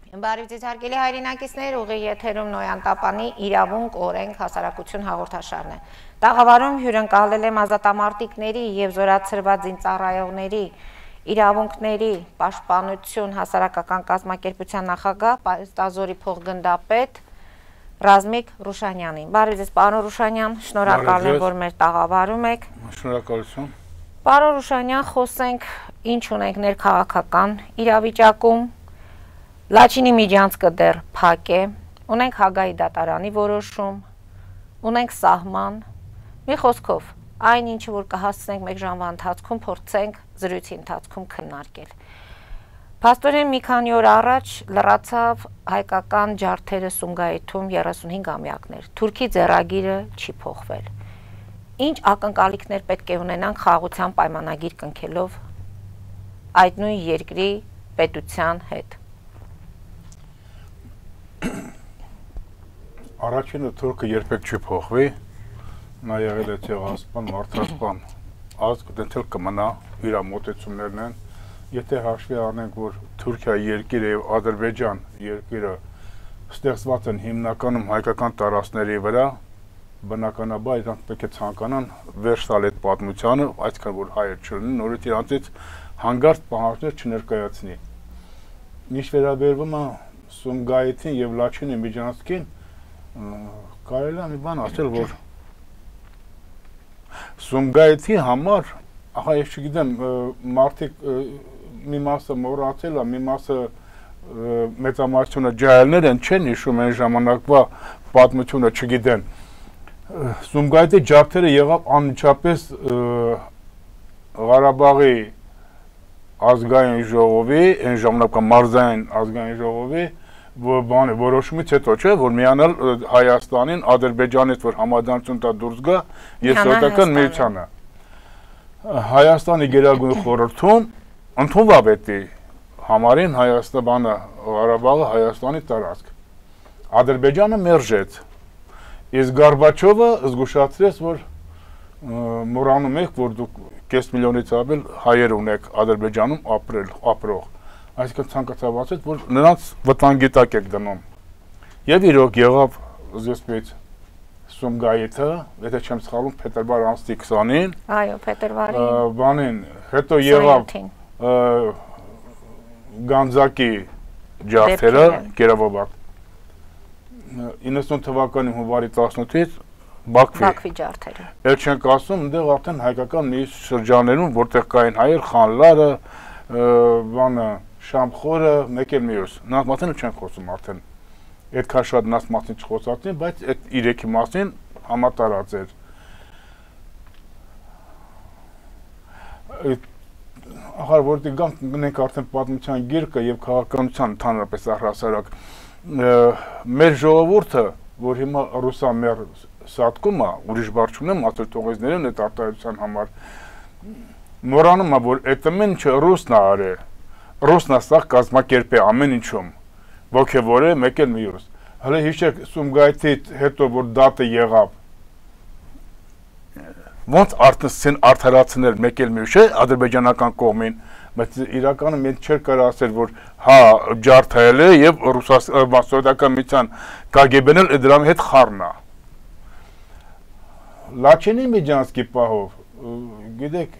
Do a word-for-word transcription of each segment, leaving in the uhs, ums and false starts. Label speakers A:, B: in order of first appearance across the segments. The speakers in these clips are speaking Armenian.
A: Բարև ձեզ հարգելի հայրենակիցներ, ուղիղ եթերում Նոյան Տապանի իրավունք, օրենք, հասարակություն հաղորդաշարն է։ Տաղավարում հյուրընկալել եմ ազատամարտիկների եւ զորացրված զինծառայողների իրավունքների պաշտպանություն հասարակական կազմակերպության նախագահ Պայստազորի փոխգնդապետ Ռազմիկ Ռուշանյանին։ Բարև ձեզ, պարոն Ռուշանյան, շնորհակալ եմ, որ մեր տաղավարում եք։
B: Շնորհակալություն։
A: Պարոն Ռուշանյան, խոսենք ինչ ունենք ներքաղաքական իրավիճակում։ Լաչինի միջանցքը դեռ փակ է, ունենք Հագայի դատարանի որոշում, ունենք սահման, մի խոսքով, այն ինչը որ կհասցնենք մեկ ժամվա ընթացքում փորձենք զրույցի ընթացքում քննարկել։ Փաստորեն մի քանի օր առաջ լրացավ հայկական ջարդերը Սումգայիթում երեսունհինգ ամյակներ, Թուրքի ձեռագիրը չի փոխվել։ Ինչ ակնկալիքներ պետք է ունենանք խաղաղության պայմանագիր կնքելով այդ նույն երկրի պետության հետ։
B: Առաջինը Թուրքը երբեք չի փոխվի, նա եղել է ցեղասպան, մարդասպան, ազգ դենթել կմնա, իր մոտեցումներն են, եթե հաշվի առնենք, որ Թուրքիա երկիրը եւ Ադրբեջան երկիրը ստեղծված են հիմնականում հայկական տարածքների վրա, բնականաբար իրանք պետք է ցանկանան վերջ տալ այդ պատմությանը, այսքան որ հայեր չլինեն, նորից իրանցից հանգարտ պահանջներ չներկայացնի։ Ինչ վերաբերվում է Սումգայիթին եւ Լաչինի միջանցքին, կարելի է մի բան ասել, որ Սումգայիթի համար, ահա ես չգիտեմ, մարդիկ մի մասը մոռացել է, մի մասը մեծամասնությունը ջահելներ են, չեն հիշում այն ժամանակվա պատմությունը չգիտեն։ Սումգայիթի ջարդերը եղավ անմիջապես Ղարաբաղի ազգային ժողովի, այն ժամանակվա մարզային ազգային ժողովի բանը որոշումից հետո չէ, որ միանալ Հայաստանին, Ադրբեջանից, որ համաձայնություն տա դուրս գա եւ սովետական միությանը։ Հայաստանի Գերագույն խորհրդում ընդունվավ էդի համարին Հայաստանը, Ղարաբաղը Հայաստանի տարածք։ Ադրբեջանը մերժեց։ Իսկ Գորբաչովը զգուշացրեց, որ մոռանում եք, որ դուք կես միլիոնից ավել հայեր ունեք Ադրբեջանում ապրել, ապրող։ Այսինքն ցանկացավ ասել, որ նրանց վտանգի տակ եք դնում։ Եվ իրոք եղավ զսպից Սումգայիթը, եթե չեմ սխալվում, փետրվար ամսի քսանին։
A: Այո, փետրվարի։
B: Բանին, հետո եղավ Գանձակի ջարդերը, Կերովոբակ։ իննսուն թվականի հունվարի տասնութից Բաքվի։
A: Բաքվի ջարդերը։
B: Էլ չենք ասում, այնտեղ արդեն հայկական մի շրջաններում, որտեղ կային հայեր, Խանլարը, բանը Շամխորը, մեկ էլ մյուս, նրանց մասին չեն խոսում արդեն, այդքան շատ նրանց մասին չխոսացին, բայց այդ իրեքի մասին համատարած էր։ Ահա որտեղ գանք գնենք արդեն պատմության գիրկը եւ քաղաքականության ընդհանրապես առհասարակ, մեր ժողովուրդը, որ հիմա ռուսամեր սատկում է, ուրիշ բառ չունեմ, ասել թողեցներին այդ արտահայտության համար, մոռանում է, որ այդ ամեն ինչը ռուսն է արել։ Ռուսն է սա կազմակերպ է ամեն ինչում, ոգևոր է, մեկ էլ մյուս։ Հələ հիշեք Սումգայիթի հետո, որ դատը եղավ, ոնց արդեն արդարացնել մեկ էլ մյուս է ադրբեջանական կողմին, բայց իրականում մենք չէր կարող ասել, որ հա ջարդել է եւ Սովետական միության Կա Գե Բեն էլ դրա հետ խառն է։ Լաչինի միջանցքի պահով, գիտեք,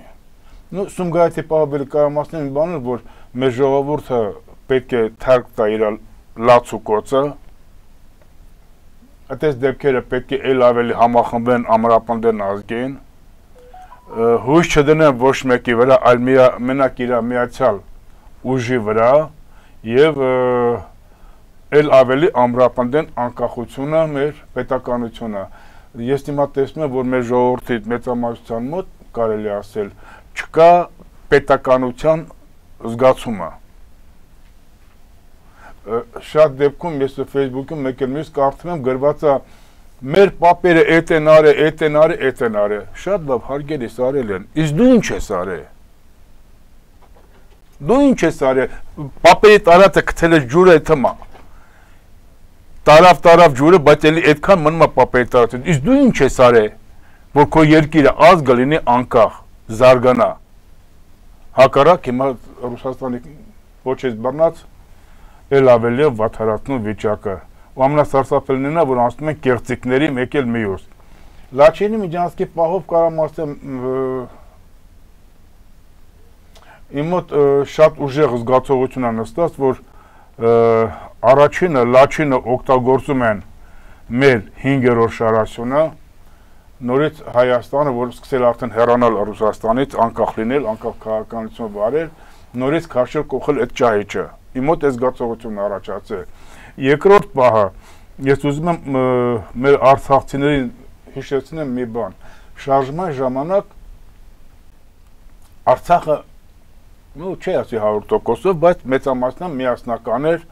B: նո Սումգայիթի պահով կարող ասեմ մի բան, որ մեր ժողովուրդը պետք է թարգ տա իր լաց ու կոծը, այդպես դեպքերը պետք է ել ավելի համախմբեն, ամրապնդեն ազգին, հույս չդնեն ոչ մեկի վրա, այլ մենակ իր միացյալ ուժի վրա եւ ել ավելի ամրապնդեն անկախությունը, մեր պետականությունը։ Ես հիմա տեսնում եմ, որ մեր ժողովրդի մեծամասնության մոտ կարելի ասել չկա պետականության զգացումը։ Շատ դեպքում ես Facebook-ում մեկ էլ մյուս կարդում եմ գրված է մեր պապերը էդ են արել, էդ են արել, էդ են արել։ Շատ լավ, հարգելի արել են։ Իսկ դու ինչ ես արել։ Դու ինչ ես արել։ Պապերի տարածը գցել է ջուրը թմա։ Տարավ տարավ ջուրը, բայց էլի այդքան մնում է պապերի տարածը։ Իսկ դու ինչ ես արել, որ քո երկիրը ազգը լինի անկախ, զարգանա։ Հակառակ հիմա Ռուսաստանի ոչ էս բռնած էլ ավելի է վատթարացնում վիճակը։ Ու ամենասարսափելին է, որ անցնում են կեղծիկների մեկ էլ մյուս։ Լաչինի Միջանցքի պահով կարամ ասեմ իմ մոտ շատ ուժեղ զգացողություն է նստած, որ առաջինը Լաչինը օգտագործում են մեր հինգերորդ շարասյունը, նորից Հայաստանը, որ սկսել արդեն հեռանալ Ռուսաստանից, անկախ լինել, անկախ քաղաքականություն վարել, նորից քաշել կողել այդ ճահիճը։ Իմ մոտ այս զգացողությունն առաջացել։ Երկրորդ պահը, ես ուզում եմ մեր արցախցիներին հիշեցնեմ մի բան։ Շարժման ժամանակ Արցախը, ну, չի ասի հարյուր տոկոսով, բայց մեծամասնությամբ միասնական էր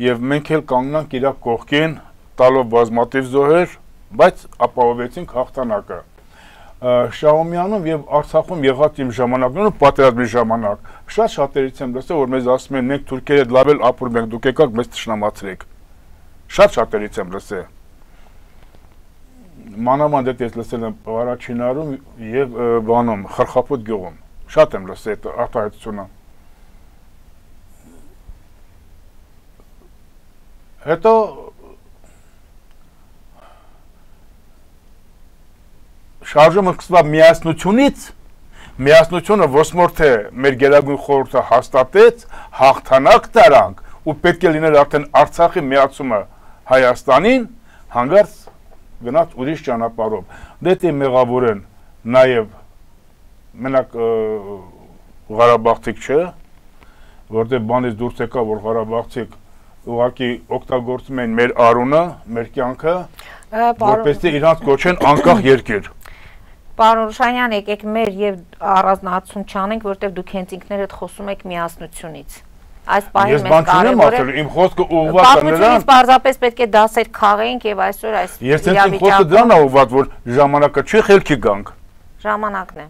B: եւ մենք էլ կանգնանք իր կողքին, տալով բազմաթիվ զոհեր, բայց ապահովեցինք հաղթանակը։ Շահումյանում եւ Արցախում եղած իմ ժամանակներում պատերազմի ժամանակ շատ շատերից եմ լսել, որ մեզ ասում են մենք թուրքերի հետ լավ էլ ապրում ենք, դուք եկաք մեզ թշնամացրեք։ Շատ շատերից եմ լսել։ Մանավանդ այդ ես լսել եմ Վարաչինարում եւ բանում Խրխապոտ գյուղում։ Շատ եմ լսել այդ արտահայտությունը։ Հետո շարժումը սկսավ միասնությունից, միասնությունը ոսմորթե մեր գերագույն խորհուրդը հաստատեց, հաղթանակ տարանք ու պետք է լիներ արդեն Արցախի միացումը Հայաստանին, հանգարց գնաց ուրիշ ճանապարհով։ Դե մեղավոր են նաև մենակ Ղարաբաղցիք չէ, որտեղ բանից դուրս եկա, որ Ղարաբաղցիք ուղղակի օգտագործում են մեր արունը, մեր կյանքը, որպեսզի իրանց կոչեն անկախ երկիր։
A: Պարոն Ռուշանյան, եկեք մեր եւ առանձնահատություն չանենք, որտեղ դուք հենց ինքներդ խոսում եք միասնությունից։ Այս պահին մեզ կարևոր է։
B: Իմ խոսքը ուղղված է նրան։
A: Պարզապես պետք է դասեր քաղենք եւ այսօր այս
B: Ես ինձ խոսքը դրան է ուղղված, որ ժամանակը չի խելքի գանք։
A: Ժամանակն է։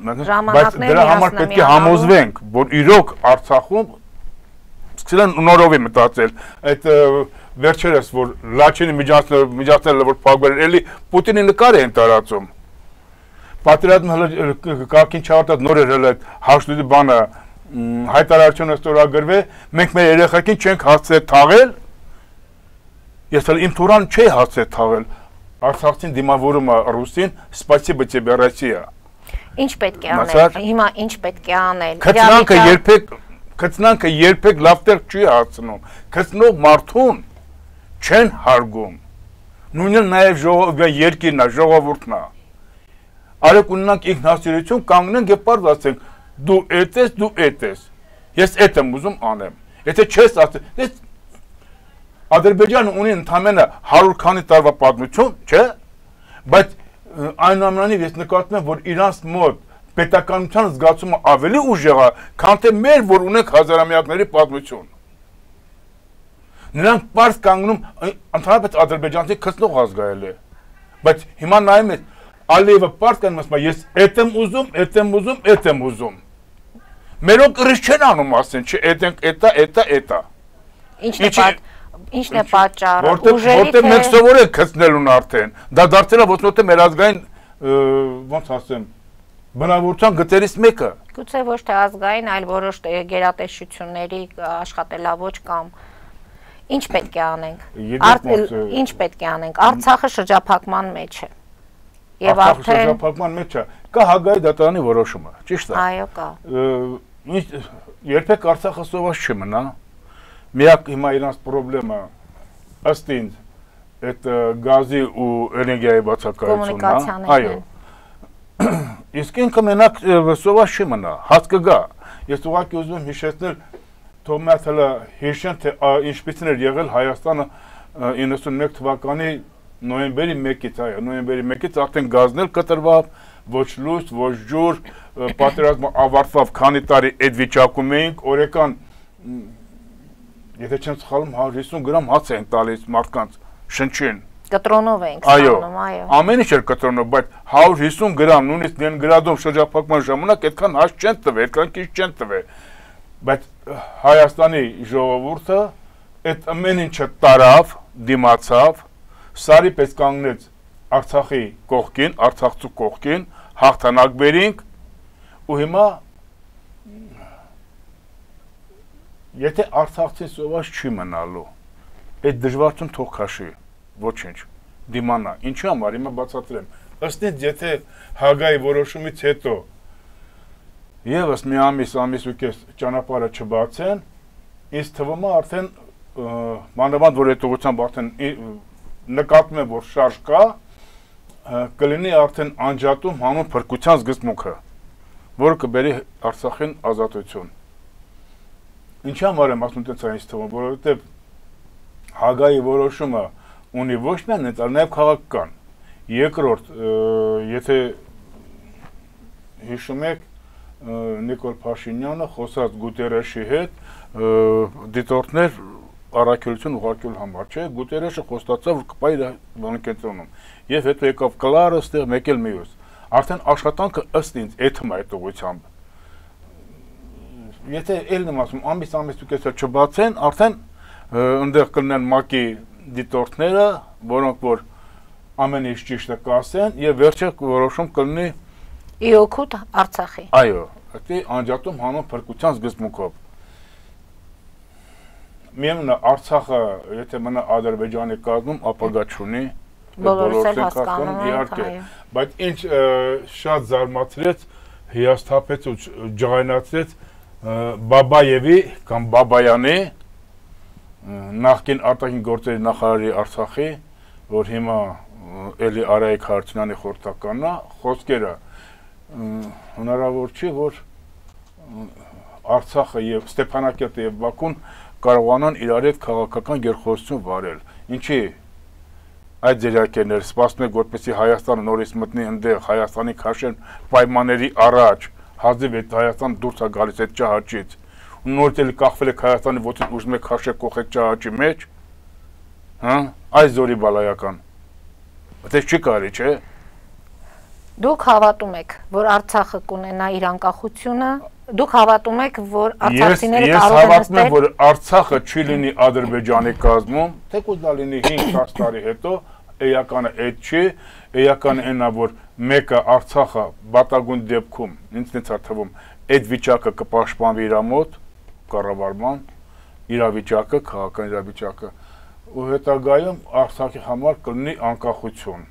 B: Բայց դրա համար պետք է համոզվենք, որ իրոք Արցախում սկսել են նորովի մտածել, այդ վերջերս, որ Լաչինի միջանցքները, որ փակվել են, էլի Պուտինի նկար են տարածում։ Պատերազմը կարգին չավարտած նոր էր հələ հաշտուտի բանը հայտարարությունը ստորագրվել, մենք մեր երեխեքին չենք հասցրել թաղել, ես հələ իմ թուրան չի հասցրել թաղել, Արցախցին դիմավորում է Ռուսին, սպասիբա тебе Россия։
A: Ինչ պետք է անել, հիմա ինչ պետք է անել։
B: Քծնանքը երբեք Քծնանքը երբեք լավ տեղ չի հասցնում, քծնող մարդուն չեն հարգում, նույնը նաև երկիրն է, ժողովուրդն է։ Արեք ունենանք ինքնասիրություն, կանգնենք և պարզ ասենք, դու էդ ես, դու էդ ես, ես էդ եմ ուզում անեմ, եթե չես ասել, ես Ադրբեջանը ունի ընդամենը հարյուր քանի տարվա պատմություն, չէ, բայց այնուամենայնիվ ես նկատում եմ, որ իրանց մոտ պետականության զգացումը ավելի ուժեղ է, քան թե մեր, որ ունենք հազարամյակների պատմություն։ Նրանք պարզ կանգնում, ընդհանրապես ադրբեջանցի քծնող ազգայել է, բայց հիմա նայում ես, Ալիևը պարզ կանգնում ասում, ես էդ եմ ուզում, էդ եմ ուզում, էդ եմ ուզում։ Մերոք կրիշ չեն անում ասեն, չէ, էդ ենք, էտա, էտա, էտա։
A: Ինչն է պատճառը,
B: որտեղ մենք սովոր ենք քծնելուն արդեն, դա դարձել է ոչնոթե մեր ազգային, ոնց ասեմ, բնավորության գծերից մեկը։
A: Գուցե ոչ թե ազգային, այլ որոշ գերատեսչությունների աշխատելավոճ կամ ինչ պետք է անենք, ինչ պետք է անենք, Արցախը շրջափակման մեջ է։ Եվ
B: արդեն շրջափակման մեջ է, կա Հագայի դատարանի որոշումը, ճիշտ է։
A: Այո, կա։
B: Երբեք Արցախը սոված չի մնա։ Միակ հիմա իրանց պրոբլեմը ըստ ինձ այդ գազի ու էներգիայի բացակայությունն է։ Այո։ Իսկ ինքը մենակ սոված չի մնա, հաց կգա։ Ես ուղղակի ուզում եմ հիշեցնել, թող մեզ հələ հիշեն, թե ինչպիսին էր եղել Հայաստանը իննսունմեկ թվականի նոյեմբերի մեկից, այո, նոյեմբերի մեկից արդեն գազն էլ կտրվավ, ոչ լույս, ոչ ջուր, պատերազմը ավարտվավ, քանի տարի այդ վիճակում էինք, օրական, եթե չեմ սխալվում, հարյուր հիսուն գրամ հաց էին տալիս մարդկանց շնչին։
A: Կտրոնով էինք ստանում, այո։
B: Ամեն ինչ էր կտրոնով, բայց հարյուր հիսուն գրամ, նույնիսկ Լենինգրադում շրջափակման ժամանակ այդքան հաց չեն տվել, այդքան քիչ չեն տվել։ Բայց Հայաստանի ժողովուրդը այդ ամեն ինչը տարավ, դիմացավ, Սարի պես կանգնեց Արցախի կողքին, Արցախցու կողքին, հաղթանակ բերինք ու հիմա Եթե Արցախցին սոված չի մնալու, այդ դժվարություն թող քաշի, ոչինչ, դիմանա, ինչու համար հիմա բացատրեմ, ըստ ինձ եթե Հագայի որոշումից հետո եւս մի ամիս, ամիս ու կես ճանապարհը չբացեն, ինձ թվում է արդեն մանավանդ որ այդ ուղղությամբ արդեն նկատում եմ որ շարժ կա, կլինի արդեն անջատում հանուն փրկության զգացմունքը, որը կբերի Արցախին ազատություն։ Ինչի համար եմ ասում տենց այնպես թվում, որովհետև Հագայի որոշումը ունի ոչ միայն այդ, այլ նաև քաղաքական։ Երկրորդ, եթե հիշում եք, Նիկոլ Փաշինյանը խոսած Գուտերեշի հետ դիտորդներ առաքելություն ուղարկելու համար, չէ, Գուտերեշը խոստացավ, որ կպայի իր բանակցությունում։ Եվ հետո եկավ Կլարը, ստեղ մեկ էլ մյուս։ Արդեն աշխատանքը ըստ ինձ էթում է այդ ուղղությամբ։ Եթե ելն եմ ասում, ամիս ամիս ու կեսը չբացեն, արդեն ընդեղ կլինեն ՄԱԿ-ի դիտորդները, որոնք որ ամեն ինչ ճիշտը կասեն, եւ վերջը որոշում կլինի
A: ի օգուտ Արցախի։
B: Այո, դա անջատում հանուն փրկության զգացմունքով։ Միևնույն է, Արցախը, եթե մնա Ադրբեջանի կազմում, ապագա չունի,
A: բոլորս էլ հասկանում
B: իհարկե, բայց ինչ շատ զարմացրեց, հիասթափեց ու ջղայնացրեց Բաբաևի կամ Բաբայանի նախկին արտաքին գործերի նախարարի Արցախի, որ հիմա էլի Արայիկ Հարությունյանի խորհրդականն է, խոսքերը հնարավոր չի, որ Արցախը եւ Ստեփանակերտը եւ Բաքուն կարողանան իրար հետ քաղաքական գերխոսություն վարել։ Ինչի այդ ձերակերները սպասում են, որպեսզի Հայաստանը նորից մտնի ընդեղ, Հայաստանի քաշեն պայմանների առաջ, հազիվ այդ Հայաստան դուրս է գալիս այդ ճահաճից։ Ու նորից էլ կախվել եք Հայաստանի ոտից ուժում եք քաշել կողեք ճահաճի մեջ։ Հա, այս զորի բալայական։ Դա չի կարի, չէ՞։
A: Դուք հավատում եք, որ Արցախը կունենա իր անկախությունը, դուք հավատում եք, որ արցախցիները կարող են
B: նստել։ Ես հավատում եմ, որ Արցախը չի լինի Ադրբեջանի կազմում, թեկուզ դա լինի հինգ-հինգ տարի հետո, էականը այդ չի, էականը այնա, որ մեկը Արցախը բատագույն դեպքում, ինձ ինձ է թվում, այդ վիճակը կպաշտպանվի իր մոտ, կառավարման, իրավիճակը, քաղաքական իրավիճակը, ու հետագայում Արցախի համար կլինի անկախություն։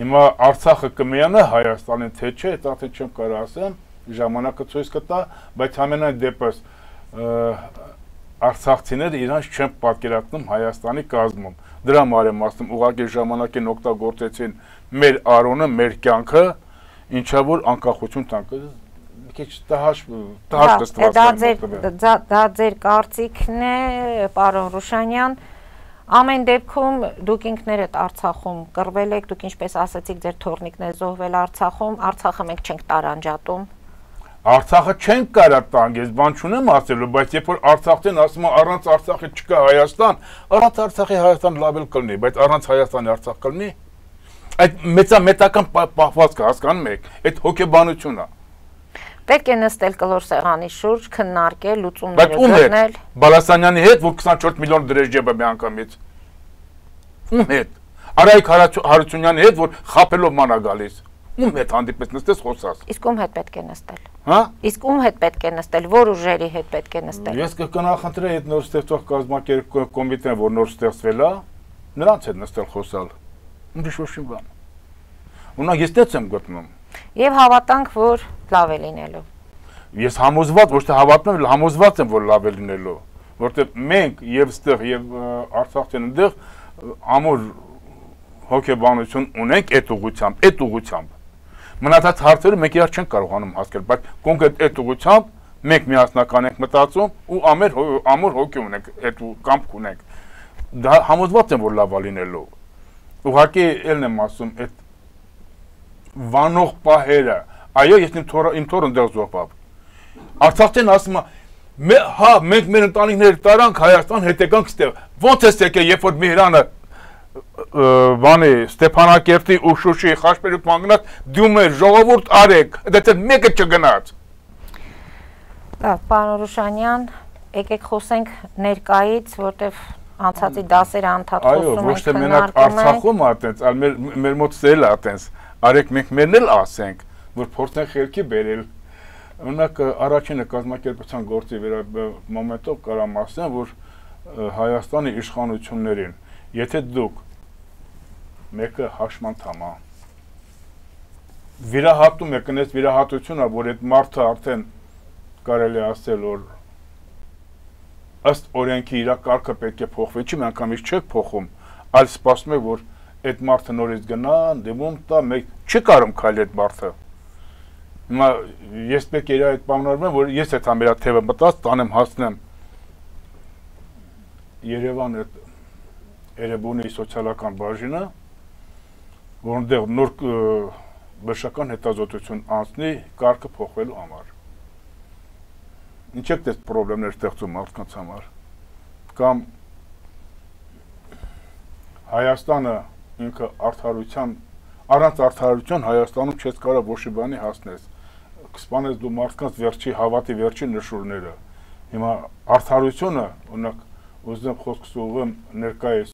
B: Հիմա Արցախը կմիանա Հայաստանին, թե չէ, դա թե չեմ կարող ասեմ, ժամանակը ցույց կտա, բայց ամենայն դեպս արցախցիները իրանց չեն պատկերացնում Հայաստանի կազմում։ Դրա համար եմ ասում, ուղղակի ժամանակին օգտագործեցին մեր արոնը, մեր կյանքը, ինչա որ անկախություն տանք։ Մի քիչ տհաճ տհաճ
A: դստված։ Դա ձեր կարծիքն է, պարոն Ռուշանյան։ Ամեն դեպքում դուք ինքներդ Արցախում կռվել եք, դուք ինչպես ասացիք, ձեր թորնիկն է զոհվել Արցախում, Արցախը մենք չենք տարանջատում։
B: Արցախը չենք կարա տանք, ես բան չունեմ ասելու, բայց երբ որ Արցախցին ասում են առանց Արցախի չկա Հայաստան, առանց Արցախի Հայաստան լավ էլ կլինի, բայց առանց Հայաստանի Արցախ կլինի։ Այդ մեծամետական պահվածքը հասկանում եք, այդ հոգեբանությունն է։
A: Պետք է նստել կլոր սեղանի շուրջ, քննարկել, լուծումները գտնել։
B: Բալասանյանի հետ, որ քսանչորս միլիոն դրեժ ջեբը միանգամից։ Ում հետ։ Արայիկ Հարությունյանի հետ, որ խափելով մանա գալիս։ Ում հետ հանդիպես նստես խոսած։
A: Իսկ ում հետ պետք է նստել։
B: Հա?
A: Իսկ ում հետ պետք է նստել, որ ուժերի հետ պետք է նստել։
B: Ես կնախընտրեի այդ նոր ստեղծող կազմակերպ կոմիտեն, որ նոր ստեղծվել է, նրանց հետ նստել խոսալ։ Ուրիշ ոչինչ բան։ Ունակ ես դից եմ գտնում։
A: Եվ հավատանք, որ լավ է լինելու։
B: Ես համոզված, ոչ թե հավատում եմ, համոզված եմ, որ լավ է լինելու, որտեղ մենք եւ ստեղ եւ Արցախցին ընդեղ ամուր հոգեբանություն ունենք այդ ուղղությամբ, այդ ուղղությամբ։ Մնացած հարցերը մենք իրար չենք կարողանում հասկանալ, բայց կոնկրետ այդ ուղղությամբ մենք միասնական ենք մտածում ու ամեր ամուր հոգի ունենք, այդ կամք ունենք։ Դա համոզված եմ, որ լավ է լինելու։ Ուղղակի ելն եմ ասում, այդ վանող պահերը, այո, ես իմ թորը իմ թորը ընդեղ զոհվավ։ Արցախցին ասում է, հա, մենք մեր ընտանիքները տարանք Հայաստան, հետեկանք ստեղ։ Ոնց է եկել, երբ որ Միհրանը բանի Ստեփանակերտի ու Շուշիի խաչմերուկ մանգնած դյում էր ժողովուրդ արեք, դա մեկը չգնաց։
A: Լավ, պարոն Ռուշանյան, եկեք խոսենք ներկայից, որտեվ անցածի դասերը անդադ խոսում ենք,
B: այո, ոչ թե մենակ Արցախում ատենց, այլ մեր մեր մոտ սել ատենց։ Արեք մենք մերն էլ ասենք, որ փորձեն խելքի բերել Օրինակ առաջինը կազմակերպության գործի մոմենտով կարամ ասեմ, որ Հայաստանի իշխանություններին, եթե դուք մեկը հաշմանդամ է, վիրահատում եք, այս վիրահատությունը, որ այդ մարդը արդեն կարելի ասել, որ ըստ օրենքի իր կարգը պետք է փոխվի, չի միանգամից չեք փոխում, այլ սպասում եք, որ այդ մարդը նորից գնա, դիմում տա, մեկ չի կարում քայլի այդ մարդը։ Հիմա ես պետք է իր այդ պայմանավորվեմ, որ ես այդ ամերա թևը մտած, տանեմ հասնեմ Երևան այդ Էրեբունի սոցիալական բաժինը, որոնտեղ նոր բժշկական հետազոտություն անցնի կարգը փոխվելու համար։ Ինչ եք դες պրոբլեմներ ստեղծում մարդկանց համար։ Կամ Հայաստանը ինքը արդարության, առանց արդարության Հայաստանում չես կարող ոչ մի բանի հասնես։ Կսպանես դու մարդկանց վերջի հավատի վերջի նշուրները։ Հիմա արդարությունը, օրինակ, ուզում խոսքս ուղղեմ ներկայիս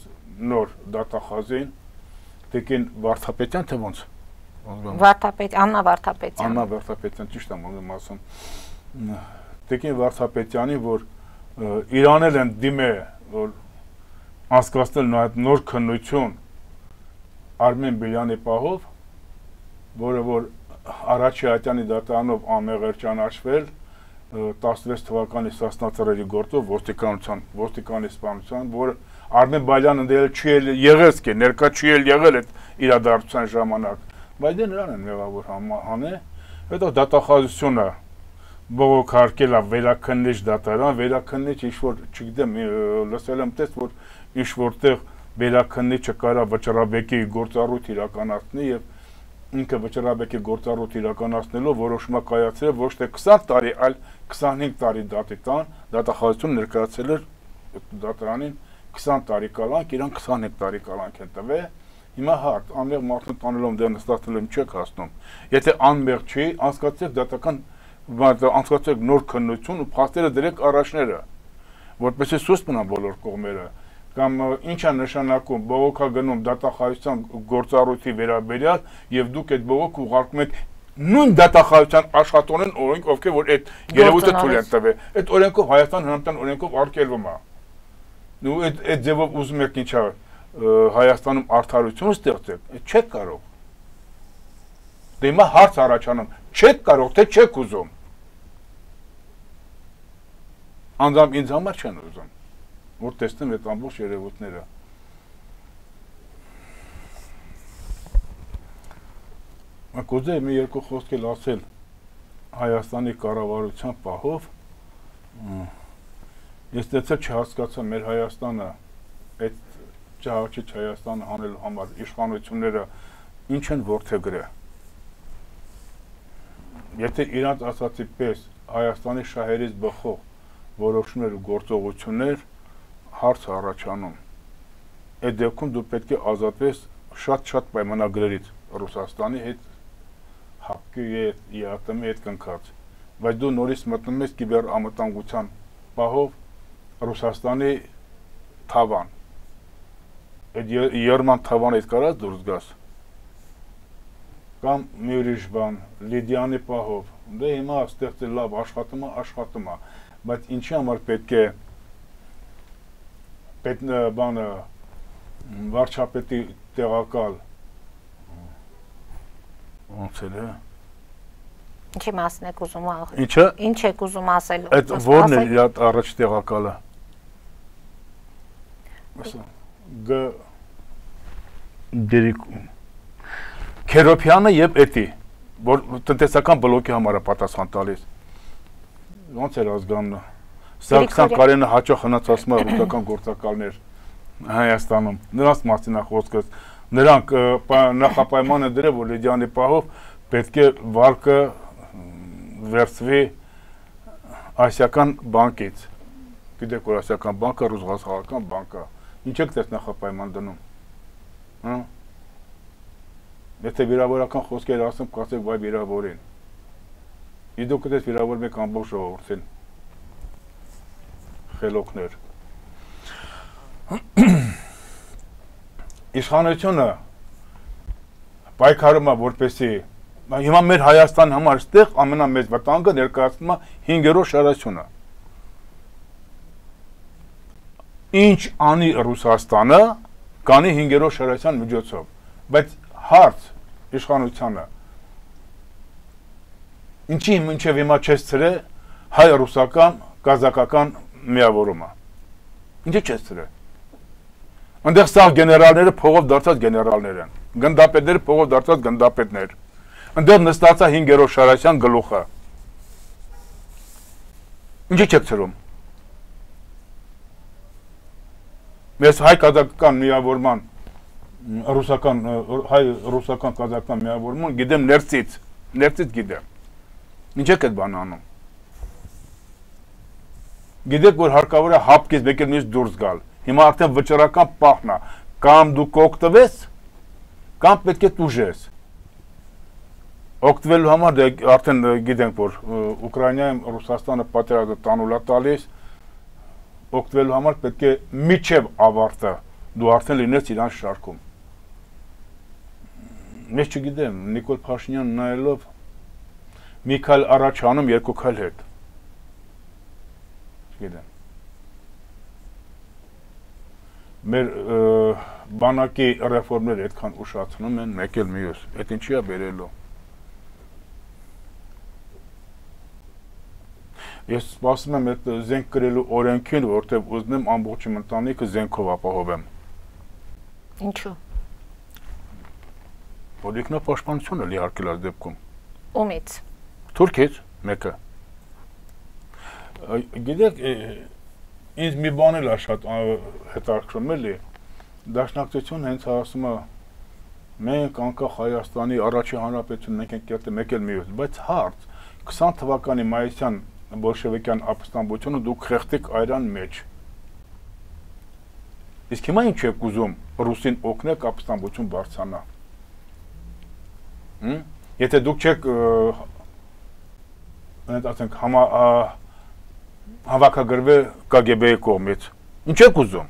B: նոր դատախազին, Տիկին Վարդապետյան թե ոնց։
A: Վարդապետ, Աննա Վարդապետյան։
B: Աննա Վարդապետյան, ճիշտ եմ ուզում ասում։ Տիկին Վարդապետյանի, որ իրանել են դիմե, որ անցկացնել նոր քննություն Արմեն Բելյանի պահով, որը որ Արաչի Ատյանի դատարանով անմեղր ճանաչվել տասնվեց թվականի սասնածռերի գործով ոստիկանության, ոստիկանի սպանության, որ Արմեն Բալյանը դել չի եղել, ներկա չի եղել այդ իրադարձության ժամանակ, բայց դե նրան են մեղավոր հանե, հետո դատախազությունը բողոքարկել է վերաքննիչ դատարան, վերաքննիչ ինչ-որ, չգիտեմ, լսել եմ տես, որ ինչ-որտեղ վերաքննիչը կարա վճռաբեկի գործառույթ իրականացնի և ինքը վճռաբեկի գործառույթ իրականացնելով որոշումը կայացրել ոչ թե քսան տարի, այլ քսանհինգ տարի դատի տան, դատախազությունը ներկայացրել էր դատարանին քսան տարի կալանք, իրան քսանհինգ տարի կալանք են տվել, հիմա հարց, անմեղ մարդուն տանելով դեռ նստացնելով չեք հասնում, եթե անմեղ չի, անցկացրեք դատական, անցկացրեք նոր քննություն ու փաստերը դրեք առաջները, որպեսզի սուստ մնան բոլոր կողմերը, կամ ինչ է նշանակում բողոքա գնում դատախազության գործառույթի վերաբերյալ եւ դուք այդ բողոք ուղարկում եք նույն դատախազության աշխատողին օրենք, ովքեր որ այդ երևույթը թույլ են տվել, այդ օրենքով Հայաստան Հանրապետության օրենքով արգելվում է։ Ու այդ այդ ձևով ուզում եք ինչա Հայաստանում արդարություն ստեղծեք, չեք կարող։ Դե հիմա հարց առաջանում, չեք կարող, թե չեք ուզում։ Անձամբ ինձ համար չեն ուզում, որ տեսնեմ այդ ամբողջ երևույթները։ Կուզեի մի երկու խոսք էլ ասել Հայաստանի կառավարության պահով, ես դեցել չհասկացա մեր Հայաստանը, այդ ճահաճիչ Հայաստանը հանելու համար իշխանությունները ինչ են որդեգրել։ Եթե իրանց ասացի պես Հայաստանի շահերից բխող որոշումներ ու գործողություններ հարց առաջանում, այդ դեպքում դու պետք է ազատվես շատ-շատ պայմանագրերից Ռուսաստանի հետ, հապկի հետ, ԵԱՏՄ-ի հետ կնքած, բայց դու նորից մտնում ես կիբեր անվտանգության պահով Ռուսաստանի թավան, այդ երման թավանից կարած դուրս գաս, կամ մի ուրիշ բան, Լիդյանի պահով, դե հիմա ստեղծել լավ աշխատում է, աշխատում է, բայց ինչի համար պետք է բանը վարչապետի տեղակալ ոնց էլ է
A: ինչի մասն եք ուզում
B: ինչը
A: ինչ եք ուզում ասել
B: այդ որն է իր առաջ տեղակալը գ դերիկում Քերոփյանը եւ էտի որ տնտեսական բլոկի համար է պատասխան տալիս ոնց էր ազգանունը Սարգսյան Կարենը հաճախ հնաց ասում է ռուսական գործակալներ Հայաստանում, նրանց մասին է խոսքս, նրանք նախապայման են դրել, որ Լիդյանի պահով պետք է վարկը վերցվի ասիական բանկից, գիտեք որ ասիական բանկը ռուսական բանկը, ինչ եք դες նախապայման դնում, եթե վիրավորական խոսքեր ասում, կասեք վայ վիրավորին, իդուք դες վիրավորում եք ամբողջ ժողովրդին, խելոքներ Իշխանությունը պայքարում է որպեսի Հիմա մեր Հայաստանի համար այստեղ ամենամեծ վտանգը ներկայացնում է հինգերորդ շարասյունը։ Ինչ անի Ռուսաստանը, կանի հինգերորդ շարասյան միջոցով, բայց հարց իշխանությանը ինչի մինչև հիմա չես ցրե հայ-ռուսական կազակական միավորումը։ Ինչի չես ցրե։ Այնտեղ սա գեներալները փողով դարձած գեներալներ են, գնդապետները փողով դարձած գնդապետներ։ Այնտեղ նստած է հինգերորդ շարասյան գլուխը։ Ինչի չեք ցրում։ Մեզ հայ-կազակական միավորման ռուսական հայ-ռուսական կազակական միավորման գիտեմ ներսից, ներսից գիտեմ։ Ինչ եք այդ բանը անում։ Գիտեք, որ հարկավոր է հապկից մեկ էլ միշտ դուրս գալ։ Հիմա արդեն վճռական պահն է, կամ դու կօգտվես, կամ պետք է տուժես։ Օգտվելու համար արդեն գիտենք, որ Ուկրաինայում Ռուսաստանը պատերազմը տանուլ է տալիս, օգտվելու համար պետք է միջև ավարտը դու արդեն լինես իրան շարքում։ Ես չգիտեմ, Նիկոլ Փաշինյան նայելով մի քայլ առաջ անում, երկու քայլ հետ։ Չգիտեմ։ Մեր բանակի ռեֆորմները այդքան ուշացնում են, մեկ էլ մյուս, այդ ինչի է բերելու։ Ես սպասում եմ այդ զենք կրելու օրենքին, որտեղ ուզում եմ ամբողջ իմ ընտանիքը զենքով ապահովեմ։
A: Ինչու։
B: Որ ինքնապաշտպանությունը լիարքել այս դեպքում։
A: Ումից։
B: Թուրքից մեկը։ Գիտեք, ինձ մի բան էլ է շատ հետաքրքրում էլի, Դաշնակցությունը հենց ասում է մենք անկախ Հայաստանի առաջի հանրապետություն մենք ենք կերտել մեկ էլ մյուս, բայց հարց քսան թվականի մայիսյան բոլշևիկյան ապստամբությունը դուք խեղդեք այրան մեջ։ Իսկ հիմա ինչ եք ուզում ռուսին օգնեք ապստամբություն բարձրանա։ Եթե դուք չեք ասենք հավաքագրվել Կ Գ B-ի կողմից, ինչ եք ուզում։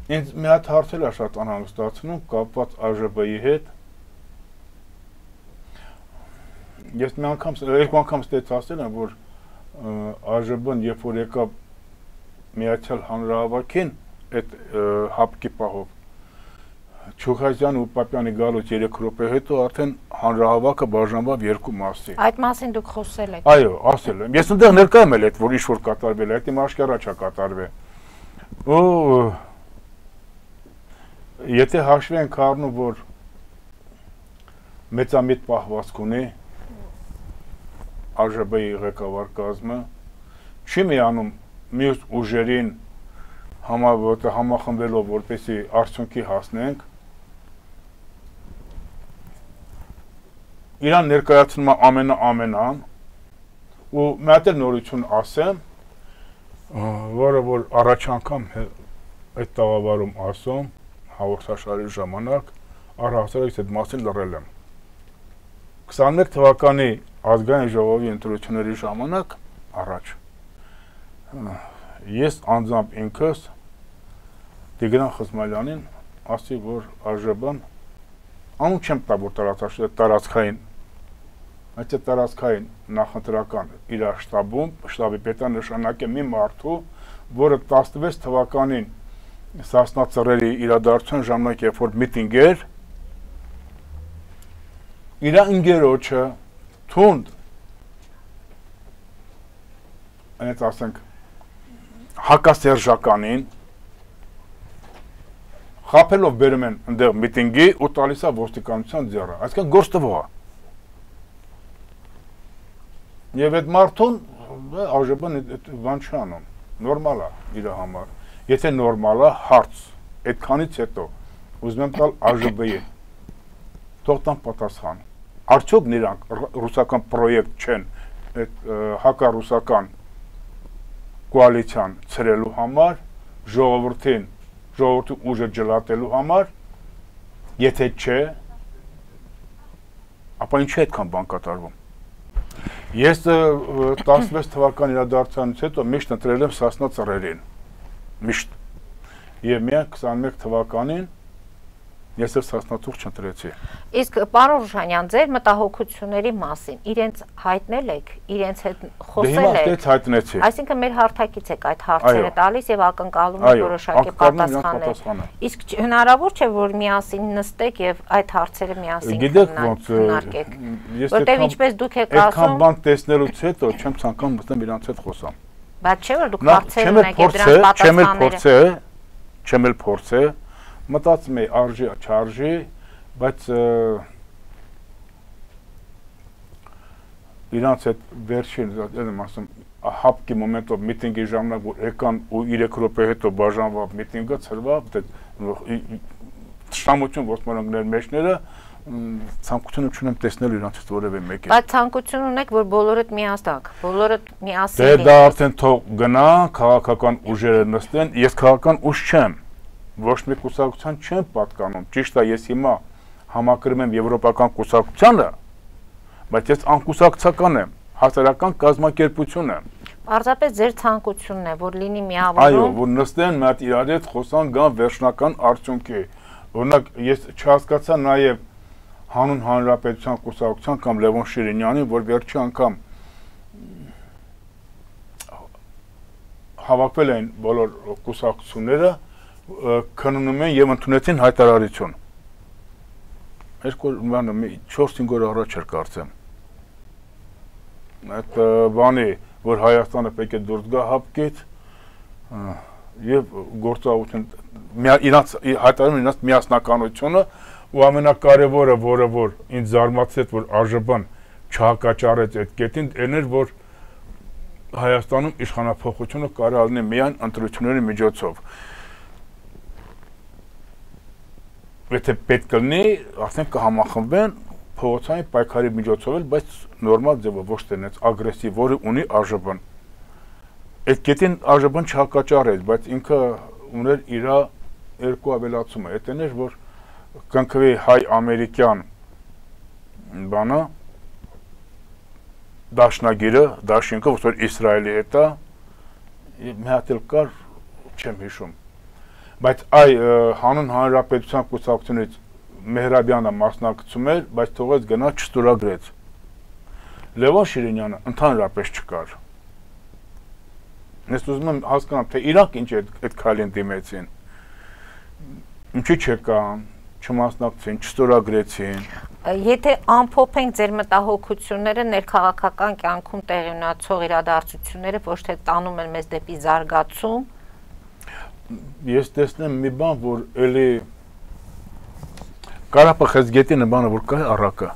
B: Ինձ մի հատ հարց էլ է շատ անհանգստացնում կապված Ա Ժ B-ի հետ։ Ես մի անգամ, երկու անգամ ստեց ասել եմ, որ Ա Ժ B-ն երբ որ եկավ Միացյալ Հանրահավաքին այդ հապկի պահով, Չուխազյան ու Պապյանի գալուց երեք րոպե հետո արդեն հանրահավաքը բաժանվավ երկու մասի։
A: Այդ մասին դուք խոսել եք։
B: Այո, ասել եմ։ Ես այնտեղ ներկա եմ էլ այդ, որ ինչ-որ կատարվել է, այդ իմ աշկարա չա կատարվել։ Ու եթե հաշվի ենք առնում, որ մեծամիտ պահվածք ունի Ա Ժ B-ի ղեկավար կազմը, չի միանում մյուս ուժերին համախմբելով, որպեսզի արդյունքի հասնենք, իրան ներկայացնում է ամենա-ամենան, ու մի հատ էլ նորություն ասեմ, որը որ առաջ անգամ այդ տաղավարում ասում, հաղորդաշարի ժամանակ, առհասարակ այդ մասին լռել եմ։ քսանմեկ թվականի ազգային ժողովի ընտրությունների ժամանակ առաջ ես անձամբ ինքս Տիգրան Խզմալյանին ասի, որ Ա Ժ B-ն անուն չեմ տա, որ տարածքային, այդ տարածքային նախընտրական իր շտաբում, շտաբի պետը նշանակ է մի մարդու, որը տասնվեց թվականին Սասնա Ծռերի իրադարձության ժամանակ, երբ որ միտինգ էր, իր ընկերոջը թունդ, այնց ասենք, հակասերժականին խապելով բերում են ընդեղ միտինգի ու տալիս է ոստիկանության ձեռը, այսինքն գործ տվող է։ Եվ այդ մարդուն Ա Ժ B-ն բան չի անում, նորմալ է իր համար։ Եթե նորմալ է, հարց, այդքանից հետո ուզում եմ տալ Ա Ժ B-ի, թող տան պատասխան։ Արդյոք նրանք ռուսական պրոյեկտ չեն այդ հակառուսական կոալիցիան ցրելու համար, ժողովրդին, ժողովրդի ուժը ջլատելու համար, եթե չէ, ապա ինչի այդքան բան կատարվում։ Ես տասնվեց թվականի իրադարձությունից հետո միշտ ընտրել եմ Սասնա Ծռերին, միշտ։ Եվ միայն քսանմեկ թվականին, Ես էլ սասնաթուղթ չընտրեցի։
A: Իսկ պարոն Ռուշանյան, ձեր մտահոգությունների մասին իրենց հայտնել եք, իրենց հետ խոսել եք։
B: Դե հիմա հայտնեցի։
A: Այսինքն մեր հարթակից եք այդ հարցերը տալիս եւ ակնկալում եք որոշակի պատասխաններ։ Իսկ հնարավոր չէ, որ միասին նստեք եւ այդ հարցերը միասին քննարկեք։ Որտեւ ինչպես դուք եք ասում,
B: այդքան բան տեսնելուց հետո չեմ ցանկանում մտնել իրանց հետ խոսամ։
A: Բայց չէ՞ որ դուք հարցեր ունեք եւ դրանց պատասխանները։
B: Չեմ էլ փորձե, մտածում եմ արժի, չարժի, բայց իրանց այդ վերջին, եմ ասում, հապկի մոմենտով միտինգի ժամանակ, որ եկան ու երեք րոպե հետո բաժանվավ միտինգը, ցրվավ, շամություն ոսմանանքներ մեջները, ցանկություն չունեմ տեսնել իրանցից որևէ մեկը։
A: Բայց ցանկություն ունեք, որ բոլորդ միասնակ, բոլորդ միասին։
B: Դե դա արդեն թող գնա, քաղաքական ուժերը նստեն, ես քաղաքական ուժ չեմ, ոչ մի կուսակցության չեմ պատկանում, ճիշտ է, ես հիմա համակրում եմ եվրոպական կուսակցությանը, բայց ես անկուսակցական եմ, հասարակական կազմակերպություն եմ։
A: Պարզապես ձեր ցանկությունն է, որ լինի միավորում։
B: Այո, որ նստեն մի հատ իրար հետ խոսան, գան վերջնական արդյունքի։ Օրինակ, ես չհասկացա նաև Հանուն Հանրապետության կուսակցության կամ Լևոն Շիրինյանին, որ վերջի անգամ հավաքվել են բոլոր կուսակցությունները, քննում են եւ ընդունեցին հայտարարություն։ Երկու չորս-հինգ օր առաջ էր կարծեմ։ Այդ բանի, որ Հայաստանը պետք է դուրս գա հապկից եւ գործողություն իրանց հայտարարում իրանց միասնականությունը ու ամենակարևորը, որը որ ինձ զարմացեց, որ ԱԺԲ-ն չհակաճառեց այդ կետին, այն էր, որ Հայաստանում իշխանափոխությունը կարող է լինի միայն ընտրությունների միջոցով։ Եթե պետք լինի, արդեն կհամախմբեն փողոցային պայքարի միջոցով էլ, բայց նորմալ ձևով, ոչ թե այնպես ագրեսիվ, որը ունի ԱԺԲ-ն։ Այդ կետին ԱԺԲ-ն չհակաճառեց, բայց ինքը ուներ իր երկու ավելացումը։ Այդ այն էր, որ կնքվի հայ-ամերիկյան բանը, դաշնագիրը, դաշինքը, որ Իսրայելի հետ է, մի հատ էլ կար, չեմ հիշում։ Բայց այ Հանուն Հանրապետության կուսակցությունից Մեհրաբյանը մասնակցում էր, բայց թողեց գնա չստորագրեց։ Լևոն Շիրինյանը ընդհանրապես չկար։ Ես ուզում եմ հասկանամ, թե իրանք ինչ այդ քայլին դիմեցին։ Ինչի չեկան, չմասնակցին, չստորագրեցին։
A: Եթե ամփոփենք ձեր մտահոգությունները, ներքաղաքական կյանքում տեղի ունեցող իրադարձությունները ոչ թե տանում են մեզ դեպի զարգացում։
B: Ես տեսնեմ մի բան, որ էլի Ղարաբաղ-Խեցգետի բանը որ կա առակը։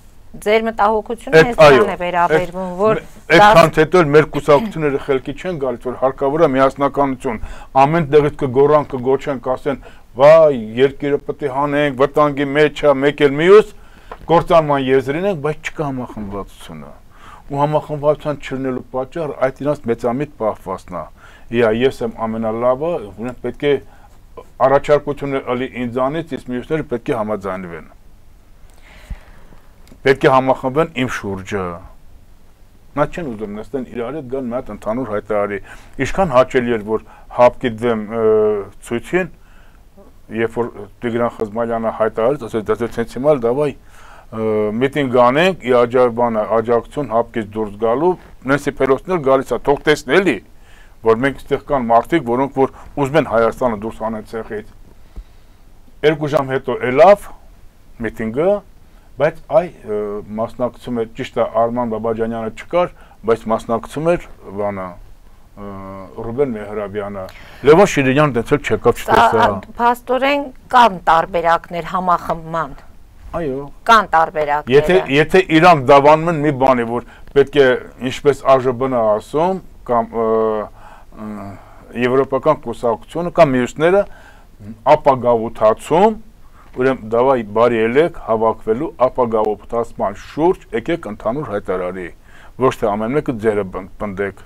A: Ձեր մտահոգությունը հենց դրան է վերաբերվում, որ
B: այդքան հետո մեր կուսակցությունները խելքի չեն գալիս, որ հարկավոր է միասնականություն, ամեն տեղից կգոռան, կգոչեն, կասեն, վայ, երկիրը պետք է հանենք, վտանգի մեջ է, մեկ էլ մյուս, կործանման եզրին ենք, բայց չկա համախմբվածությունը։ Ու համախմբվածության չլինելու պատճառը այդ իրանց մեծամիտ պահվածքն է։ Իա, ես եմ ամենալավը, ունեմ պետք է առաջարկությունը ըլի ինձանից, իսկ մյուսները պետք է համաձայնվեն։ Պետք է համախմբեն իմ շուրջը։ Նա չեն ուզում նստեն իրար հետ գան մի հատ ընդհանուր հայտարարի։ Ինչքան հաճելի էր, որ հապկի դեմ ցույցին, երբ որ Տիգրան Խզմալյանը հայտարարեց, ասեց, դասեց հենց հիմա դավայ միտինգ անենք, ի աջակցություն, աջակցություն հապկից դուրս գալու, Նենսի Պելոսին էլ գալիս է, թող տեսնի էլի, որ մենք այստեղ կան մարդիկ, որոնք որ ուզում են Հայաստանը դուրս անեն ցեղից։ Երկու ժամ հետո ելավ միտինգը, բայց այ մասնակցում էր, ճիշտ է Արման Բաբաջանյանը չկար, բայց մասնակցում էր բանը Ռուբեն Մեհրաբյանը, Լևոն Շիրինյանը դենցել չեկավ չտեսա։
A: Փաստորեն կան տարբերակներ համախմբման։
B: Այո։
A: Կան տարբերակներ։
B: Եթե եթե իրանք դավանում են մի բանի, որ պետք է ինչպես ԱԺԲ-ն է ասում, կամ եվրոպական կուսակցությունը կամ մյուսները ապագավութացում, ուրեմն դավայ բարի ելեք հավաքվելու ապագավութացման շուրջ եկեք ընդհանուր հայտարարի, ոչ թե ամեն մեկը ձերը պնդեք։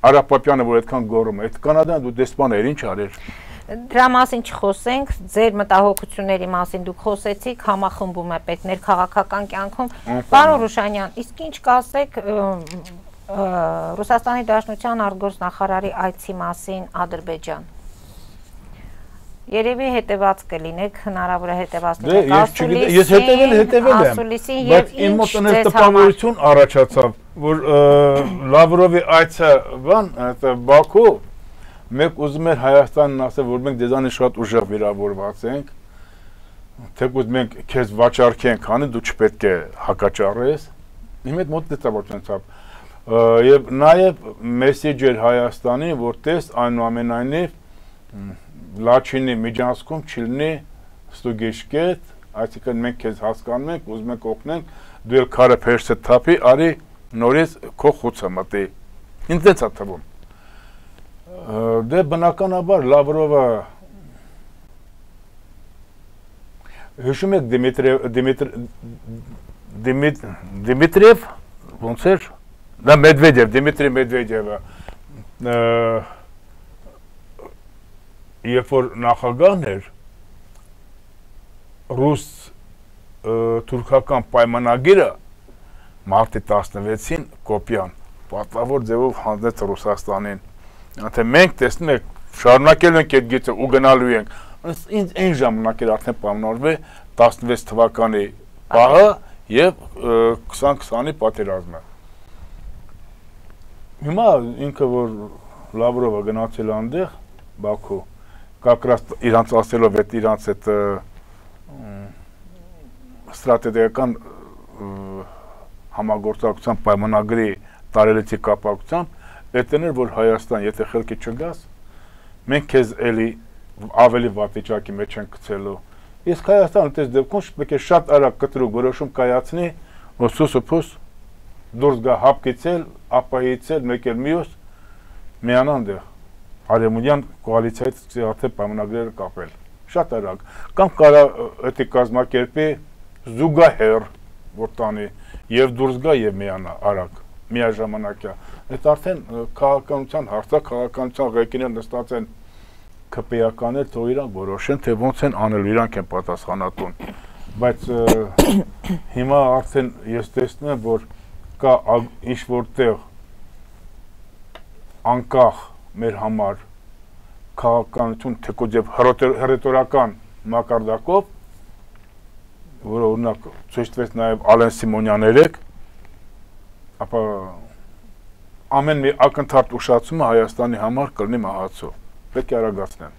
B: Արա Պապյանը, որ այդքան գոռում է, այդ Կանադան դու դեսպան էր, ինչ արեր։
A: Դրա մասին չխոսենք, ձեր մտահոգությունների մասին դուք խոսեցիք, համախմբում է պետք ներքաղաքական կյանքում։ Պարոն Ռուշանյան, իսկ ինչ կասեք Ռուսաստանի Դաշնության արտգործնախարարի այցի մասին Ադրբեջան։ Երևի հետևած կլինեք, հնարավոր է հետևած
B: լինեք ասուլիսին, ես հետևել հետևել եմ, բայց իմ մոտ այնպես տպավորություն առաջացավ, որ Լավրովի այցը բան, Բաքու, մենք ուզում էր Հայաստանն ասել, որ մենք դեզանի շատ ուժեղ վիրավորված ենք, թեկուզ մենք քեզ վաճառքենք անի, դու չպետք է հակաճառես, իմ հետ մոտ տպավորություն ցավ։ Եվ նաև մեսեջ էր Հայաստանի, որ տես այնուամենայնիվ Լաչինի միջանցքում չլինի ստուգեշկետ, այսինքն մենք քեզ հասկանում ենք, ուզում ենք օգնենք, դու էլ քարը փերսը թափի, արի նորից քո խուցը մտի։ Ինձ դեց է թվում։ Դե բնականաբար Լավրովը հիշում եք Դիմիտրիև, ոնց էր, դա Մեդվեդև, Դիմիտրի Մեդվեդևը, երբ որ նախագահն էր, ռուս թուրքական պայմանագիրը մարտի տասնվեցին կոպյան, պատվավոր ձևով հանձնեց Ռուսաստանին, թե մենք տեսնում եք, շարունակելու ենք այդ գիծը ու գնալու ենք, ինձ այն ժամանակ էր արդեն պայմանավորվել տասնվեց թվականի պահը և քսան քսանի պատերազմը։ Հիմա ինքը, որ Լավրովը գնացել այնտեղ, Բաքու, как раз իրանց ասելով այդ իրանց այդ ստրատեգիական համագործակցության պայմանագրի տարելիցի կապակցությամբ այդտեղ էր, որ Հայաստան, եթե խելքի չգաս, մենք քեզ էլի ավելի վատ վիճակի մեջ ենք գցելու։ Իսկ Հայաստանը դες դեպքում պետք է շատ արագ կտրուկ որոշում կայացնի, որ սուսուփուս դուրս գա հապկիցել, ապահիցել, մեկ էլ մյուս միանան դեղ Արևմուտյան կոալիցիայից արդեն պայմանագրերը կապել, շատ արագ, կամ կարա էդի կազմակերպի զուգահեռ, որ տանի, և դուրս գա և միանա արագ, միաժամանակյա, այդ արդեն քաղաքականության հարցա, քաղաքականության ղեկիներ նստած են քպեականներ, թող իրանք որոշեն, թե ոնց են անել, իրանք են պատասխանատուն, բայց հիմա արդեն ես տեսնում եմ, որ կա ինչ-որ տեղ անկախ մեր համար քաղաքականություն թեկուզ և հռետորական մակարդակով, որը օրինակ ցույց տվեց նաև Ալեն Սիմոնյան երեկ, ապա ամեն մի ակնթարթ ուշացումը Հայաստանի համար կլինի մահացու։ Պետք է արագացնեն,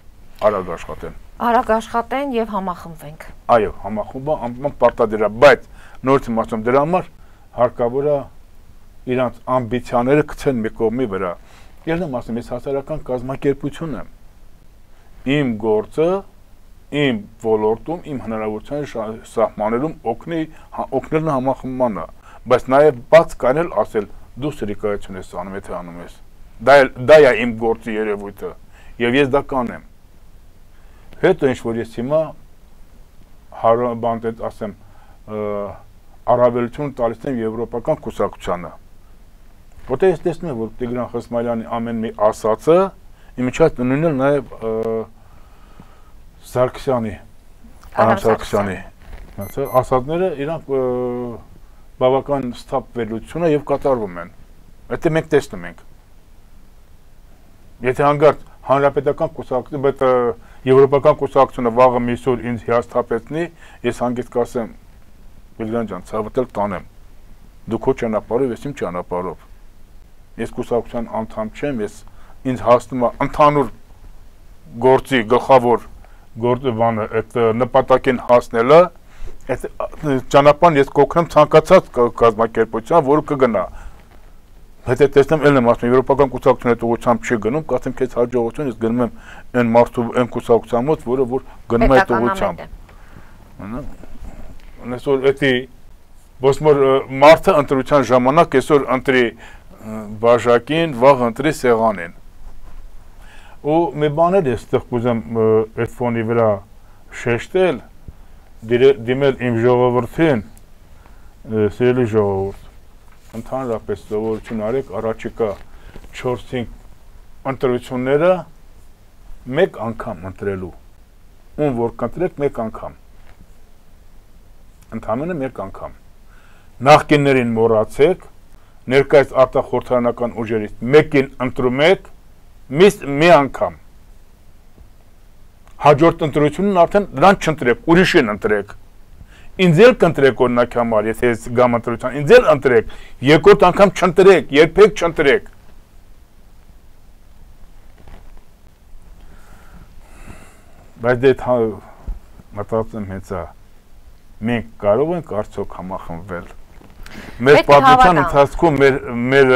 B: արագ աշխատեն։
A: Արագ աշխատեն և համախմբվենք։
B: Այո, համախմբը անպայման պարտադիր է, բայց նորից եմ ասում դրա համար հարկավոր է իրանց ամբիցիաները գցեն մի կողմի վրա։ Ես եմ ասում, ես հասարակական կազմակերպություն եմ։ Իմ գործը, իմ ոլորտում, իմ հնարավորության սահմանելում օգնելն համախմբմանը, բայց նաև բաց կանել ասել, դու սրիկայություն ես անում, եթե անում ես։ Դա է իմ գործի երևույթը, և ես դա կանեմ։ Հետո ինչ որ ես հիմա բանտեց ասեմ, առավելություն տալիս եմ եվրոպական կուսակցությանը։ Որտեղ ես տեսնում եմ, որ Տիգրան Խսմայլյանի ամեն մի ասածը, իմիջած նույնն նաև Սարգսյանի, Արամ Սարգսյանի ասածները իրանք բավական սթափվելություն է և կատարվում են։ Այդ մենք տեսնում ենք։ Եթե հանգարտ հանրապետական կուսակցությունը, բայց եվրոպական կուսակցությունը վաղը միսուր ինձ հիասթափեցնի, ես հանգիստ կասեմ, Բիլգրան ջան, ցավդ էլ տանեմ։ Դու քո ճանապարհով, ես իմ ճանապարհով։ Ես կուսակցության անդամ չեմ, ես ինձ հասնում է ընդհանուր գործի գլխավոր գործը բանը, այդ նպատակին հասնելը, այդ ճանապարհն ես կօգնեմ ցանկացած կազմակերպության, որը կգնա։ Հետո տեսնեմ ելն եմ ասում, եվրոպական կուսակցությունը այդ ուղղությամբ չի գնում, կասեմ քեզ հաջողություն, ես գնում եմ այն մարդու այն կուսակցության մոտ, որը որ գնում է այդ ուղղությամբ։ Այսօր էդի ոսմոր մարդը ընտրության ժամանակ այսօր ընտրի բաժակին, վաղ ընտրի սեղանին։ Ու մի բաներ ես ստեղ կուզեմ այդ ֆոնի վրա շեշտել, դիմել իմ ժողովրդին, սիրելի ժողովուրդ, ընդհանրապես սովորություն արեք առաջիկա չորս-հինգ ընտրությունները մեկ անգամ ընտրելու, ում որ կընտրեք մեկ անգամ, ընդհանրապես մեկ անգամ, նախկիններին մոռացեք, ներկայիս արտախորհրդարանական ուժերից մեկին ընտրում եք, մի անգամ, հաջորդ ընտրությունն արդեն նրան չընտրեք, ուրիշին ընտրեք։ Ինձ էլ կընտրեք օրինակ համար, եթե ես գամ ընտրության, ինձ էլ ընտրեք, երկրորդ անգամ չընտրեք, երբեք չընտրեք։ Բայց դե մտածում եմ հենց է, մենք կարող ենք արդյոք համախմբվել։ Մեր պատմության ընթացքում մեր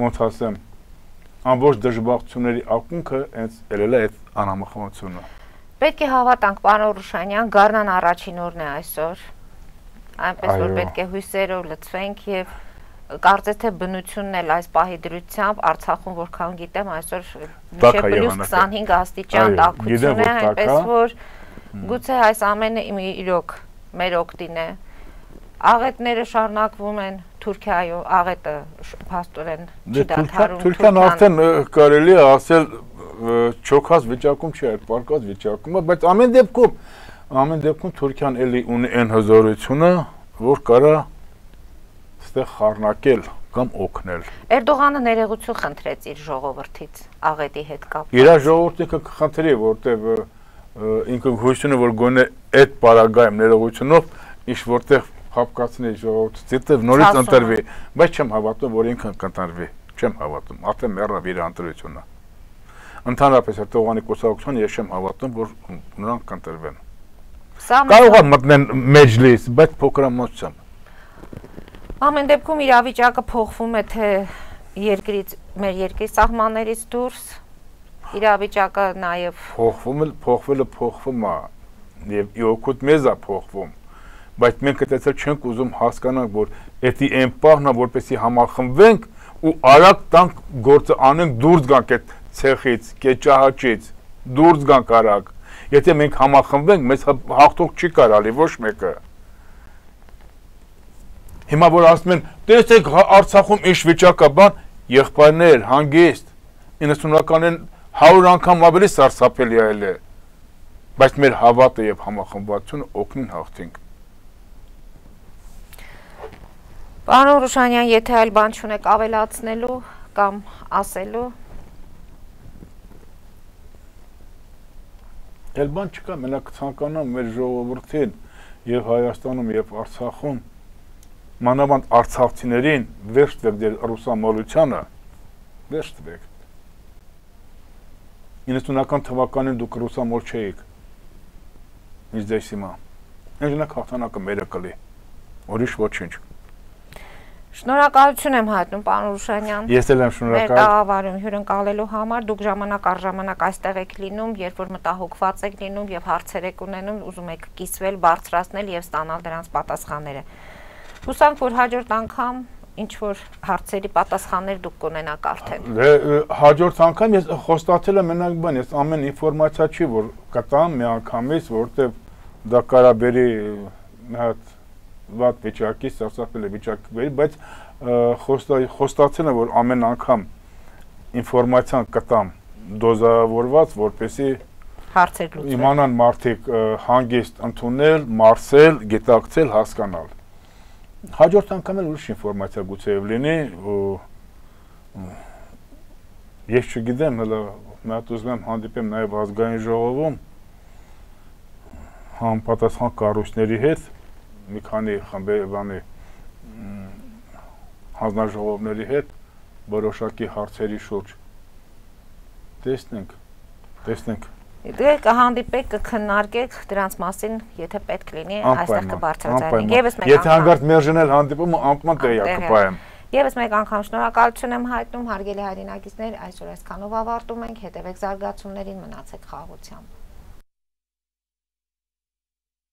B: ոնց ասեմ, ամբողջ դժբախտությունների ակունքը հենց ելել է այդ անհամախմբությունը։
A: Պետք է հավատանք, պարոն Օրուշանյան, գարնան առաջին օրն է այսօր, այնպես որ պետք է հույսերով լցվենք և կարծես թե բնությունն էլ այս պահի դրությամբ Արցախում որքան գիտեմ այսօր մինչև պլյուս քսանհինգ աստիճան տաքություն է, այնպես որ գուցե այս ամենը իրոք մեր օգտին է։ Աղետները շարունակվում են Թուրքիայում, աղետը փաստորեն չի դադարում։
B: Թուրքիան արդեն կարելի է ասել չոքած վիճակում չի, այդ պարկած վիճակում է, բայց ամեն դեպքում, ամեն դեպքում Թուրքիան էլի ունի այն հզորությունը, որ կարա ստեղ խառնակել կամ օգնել։
A: Էրդողանը ներողություն խնդրեց իր ժողովրդից աղետի հետ կապված։
B: Իր ժողովուրդը կխնդրի, որտեղ ինքը հույս ունի, որ գոնե այդ պարագայում ներողությունով ինչ որտեղ հապկացնի ժողովրդից, դեռ նորից ընտրվի, բայց չեմ հավատում, որ ինքն կընտրվի, չեմ հավատում, արդեն մեռավ իր ընտրությունը։ Ընդհանրապես Էրդողանի կուսակցությանը ես չեմ հավատում, որ նրանք կընտրվեն։ Կարող է մտնեն մեջլիս, բայց փոքրամասնությամբ։
A: Ամեն դեպքում իրավիճակը փոխվում է թե երկրից, մեր երկրի սահմաններից դուրս, իրավիճակը նաև
B: փոխվում է, փոխվելը փոխվում է, եւ իօքուտ մեզ է փոխվում, բայց մենք այդտեղ չենք ուզում հասկանանք, որ էդի այն պահն է, որպեսզի համախմբվենք ու արագ տանք գործը անենք, դուրս գանք այդ ցեխից, կեճահաճից, դուրս գանք արագ։ Եթե մենք համախմբվենք, մեզ հաղթող չի կարալի ոչ մեկը։ Հիմա որ ասում են, տեսեք Արցախում ինչ վիճակ է, բան, եղբայրներ, հանգիստ, իննսունականին հարյուր անգամ ավելի սարսափելի այլ է, բայց մեր հավատը եւ համախմբվածությունը օգնին հաղթենք։
A: Պարոն Օրուշանյան, եթե այլ բան չունեք ավելացնելու կամ ասելու։
B: Էլ բան չկա, մենակ ցանկանամ մեր ժողովրդին եւ Հայաստանում եւ Արցախում մանավանդ արցախցիներին վերջ տվեք դեր ռուսամոլությանը, վերջ տվեք։ իննսունական թվականին դուք ռուսամոլ չէիք, ինչ ձեզ հիմա, ինժնակ հաղթանակը մերը կլի, ուրիշ ոչինչ։
A: Շնորհակալություն եմ հայտնում, պարոն Օրուշանյան։
B: Ես էլ եմ շնորհակալ։
A: Մեր տաղավարում հյուրընկալելու համար, դուք ժամանակ առ ժամանակ այստեղ եք լինում, երբ որ մտահոգված եք լինում եւ հարցեր եք ունենում, ուզում եք կիսվել, բարձրացնել եւ ստանալ դրանց պատասխանները։ Հուսանք, որ հաջորդ անգամ ինչ որ հարցերի պատասխաններ դուք կունենաք արդեն։
B: Հաջորդ անգամ ես խոստացել եմ մենակ բան, ես ամեն ինֆորմացիա չի, որ կտամ մի անգամից, որտեղ դա կարա բերի մի հատ վատ վիճակի, սարսափելի վիճակի բերի, բայց խոստացել եմ, որ ամեն անգամ ինֆորմացիան կտամ դոզավորված, որպեսզի
A: հարցեր լուծվեն։
B: Իմանան մարդիկ հանգիստ ընդունել, մարսել, գիտակցել, հասկանալ։ Հաջորդ անգամ էլ ուրիշ ինֆորմացիա գուցե լինի, ես չգիտեմ, հələ մի հատ ուզում եմ հանդիպեմ նաև ազգային ժողովում համապատասխան կառույցների հետ, մի քանի խմբերի հանձնաժողովների հետ որոշակի հարցերի շուրջ տեսնենք, տեսնենք։
A: Դե կհանդիպեք, կքննարկեք դրանց մասին, եթե պետք լինի, այստեղ կբարձրացնենք։ Եվս մեկ անգամ։
B: Եթե հանգարտ մերժնել հանդիպումը, անկման տեղյակ կպահեմ։
A: Եվս մեկ անգամ շնորհակալություն եմ հայտնում, հարգելի հայրենակիցներ, այսօր այսքանով ավարտում ենք, հետևեք զարգացումներին, մնացեք խաղաղությամբ։